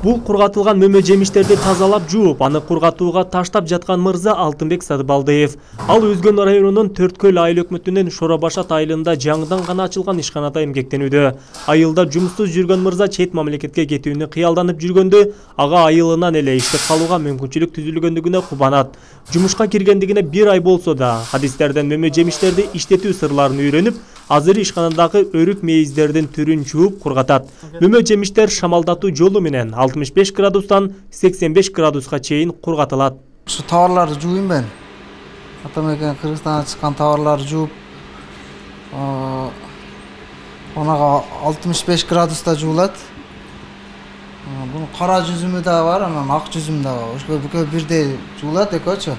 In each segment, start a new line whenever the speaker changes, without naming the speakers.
Бул кургатылган мөмө жемиштерди тазалап жууп, аны кургатууга таштап жаткан мырза Алтынбек Сатыбалдиев. Ал Өзгөн районунун Төрткөл айыл өкмөтүнүн Шоробашат айылында жаңыдан гана ачылган ишканада эмгектенүүдө. Айылда жумуштуз жүргөн мырза чет мамлекетке кетүүнү кыялданып жүргөндө, ага айылынан эле иштеп калууга мүмкүнчүлүк түзүлгөндүгүнө кубанат. Жумушка киргендигине 1 ай болсо да, хадистерден мөмө жемиштерди иштетүү сырларын үйрөнүп, азыр ишканадагы өрүк мейиздердин түрүн жууп кургатат. Мөмө жемиштер шамалдатуу жолу менен 65 градустан 85 градуска чейин кургатылат.
Ушу товарларды жууйм мен. Атамекен Кыргызстандан чыккан товарларды жууп, онага 65 градуста жуулат. Бунун кара жүзүмү да бар, анан ак жүзүмү да бар. Ошо бүкөө бирдей жуулат экөөчү.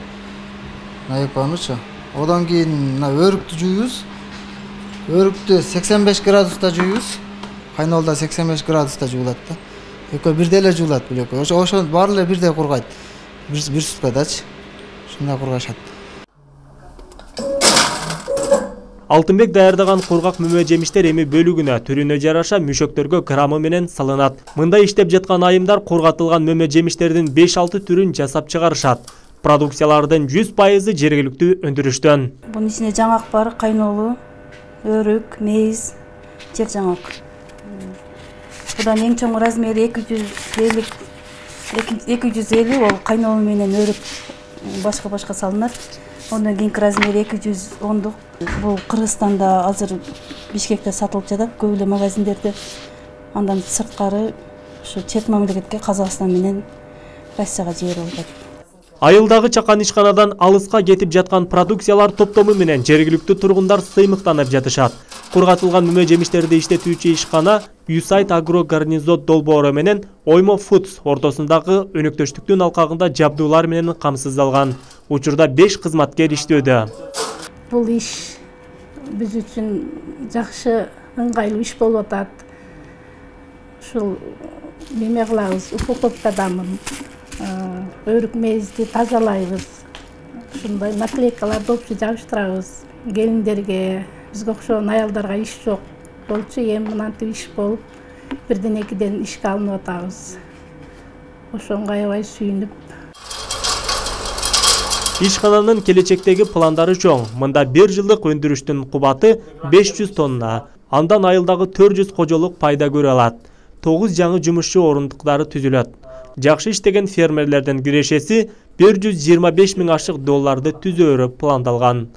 Экөөнүчү. Одан кийин өрүктү жууйбуз. Өрүктү 85 градуста жууйбуз. Кайнолдо 85 градуста жуулат да. Экөө бирдей эле жуулат бул экөө. Ошо баары эле бирдей кургайт. Бир суткадачы. Ушундай кургашат.
Алтынбек даярдаган кургак мөмө жемиштер эми бөлүгүнө, түрүнө жараша мүшөктөргө граммы менен салынат. Мында иштеп жаткан айымдар кургатылган мөмө жемиштердин 5-6 түрүн жасап чыгарышат. Продукциялардын 100% жергиликтүү өндүрүштөн.
Бунун ичинде жаңак бар, кайнолуу, өрүк, мейиз, жер жаңак. Будан эң чоң размери 250 ол кайнолуу менен өрүк башка салынат. Ондан кийинки размери 210. Бул Кыргызстанда азыр Бишкекте сатылып жатат, көп эле магазиндерде. Андан сырткары ушу чет мамлекетке Казакстан менен Россияга жиберип атат.
Айылдагы чакан ишканадан алыска кетип жаткан продукциялар топтому менен жергиликтүү тургундар сыймыктанып жатышат. Кургатылган мөмө жемиштерди иштетүүчү ишкана Юсайт Агро Гарнизот долбоору менен Оймо Foods ортосундагы өнөктөштүктүн алкагында жабдуулар менен камсыздалган. Учурда 5 кызматкер иштөөдө.
Бул иш биз үчүн жакшы, ыңгайлуу иш болуп атат. Ушул неме кылабыз, упаковкадамын. Өрүк мейизди тазалайбыз. Ушундай наклейкаларды опчу жабыштырабыз. Келиндерге, бизге окшогон аялдарга иш жок болчу, эми мынантип иш болуп, бирден экиден ишке алынып атабыз. Ошонго аябай сүйүнүп.
Ишкананын келечектеги пландары чоң. Мында 1 жылдык өндүрүштүн кубаты 500 тонна. Андан айылдагы 400 кожолук пайда көрө алат. 9 жаңы жумушчу орундуктары түзүлөт. Жакшы иштеген фермерлердин кирешеси $125 000 түзөөрү пландалган.